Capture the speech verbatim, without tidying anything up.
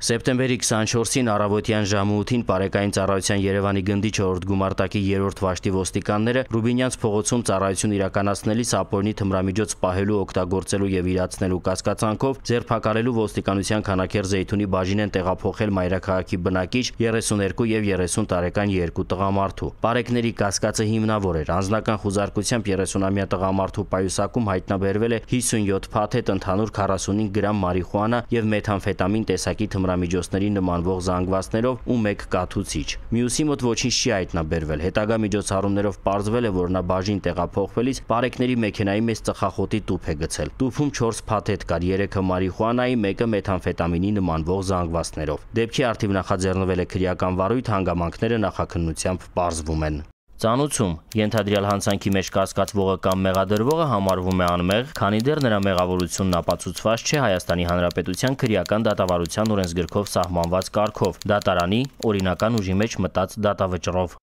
Սեպտեմբերի քսանչորսին առավոտյան ժամը ութին Պարեկային ծառայության Երևանի գնդի չորրորդ գումարտակի երրորդ վաշտի ոստիկանները Ռուբինյանց փողոցում ծառայություն իրականացնելիս ապօրինի թմրամիջոց պահելու, օգտագործելու եւ իրացնելու կասկածանքով ձերբակալելու ոստիկանության Քանաքեռ Զեյթունի բաժին են տեղափոխել մայրաքաղաքի բնակիչ երեսուներկու եւ երեսուն տարեկան երկու տղամարդու։ Պարեկների կասկածը հիմնավոր էր։ Անձնական խուզարկությամբ երեսունամյա տղամարդու պայուսակում հայտնաբերվել է հիսունյոթ փաթեթ, ընդհանուր քառասունհինգ գրամ մարիխուանա եւ մեթամֆետամին տեսակի միջոցների նմանվող զանգվածներով ու մեկ կաթուցիչ։ Մյուսի մոտ ոչինչ չի հայտնաբերվել։ Հետագա միջոցառումներով պարզվել է, որ նա բաժին տեղափոխվելիս Պարեկների մեքենայի մեջ ծխախոտի տուփ է գցել։ Տուփում չորս փաթեթ կար, երեքը մարիխուանայի, մեկը մեթամֆետամինի նմանվող զանգվածներով։ Դեպքի առթիվ նախաձեռնվել է քրեական վարույթ, հանգամանքները նախաքննությամբ պարզվում են։ Ծանուցում ենթադրյալ հանցանքի մեջ կասկածվողը կամ մեղադրվողը համարվում է անմեղ, քանի դեռ նրա մեղավորությունն ապացուցված չէ Հայաստանի Հանրապետության քրեական դատավարության օրենսգրքով սահմանված կարգով՝ դատարանի օրինական ուժի մեջ մտած դատավճռով։